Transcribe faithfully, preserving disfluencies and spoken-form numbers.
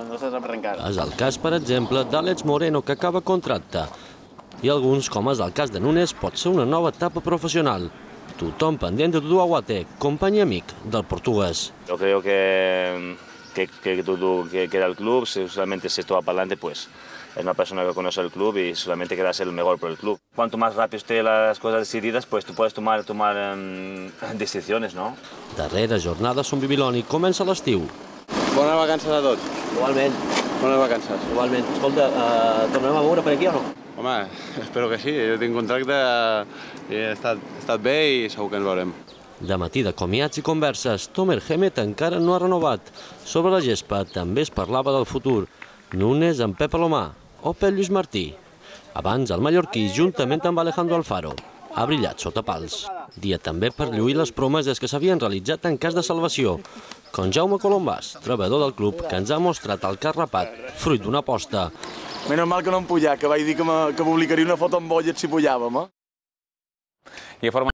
no se sap encara. És el cas, per exemple, d'Àlex Moreno, que acaba contracte. I alguns, com és el cas de Núñez, pot ser una nova etapa professional. Tothom pendent de Dudu Aguate, company i amic del portuguès. Yo creo que, que, que Dudu que queda el club, si solamente si esto va para adelante, pues es una persona que conoce el club y solamente queda ser el mejor por el club. Cuanto más rápido esté las cosas decididas, pues tú puedes tomar, tomar um, decisiones, ¿no? Darrera jornada a Son Bibiloni comença l'estiu. Bones vacances a tots. Igualment. Bones vacances. Igualment. Escolta, eh, tornarem a veure per aquí o no? Home, espero que sí. Jo tinc contracte i he estat, he estat bé i segur que ens veurem. De matí de comiats i converses, Tomer Gémez encara no ha renovat. Sobre la gespa també es parlava del futur. Núñez amb Pep Alomar o Pep Lluís Martí. Abans el mallorquí, juntament amb Alejandro Alfaro, ha brillat sota pals. Dia també per lluir les promeses que s'havien realitzat en cas de salvació, com Jaume Colombàs, treballador del club, que ens ha mostrat el cap rapat, fruit d'una aposta. Menys mal que no em pujat, que vaig dir que, que publicaria una foto amb bollet si pujàvem, eh? I a forma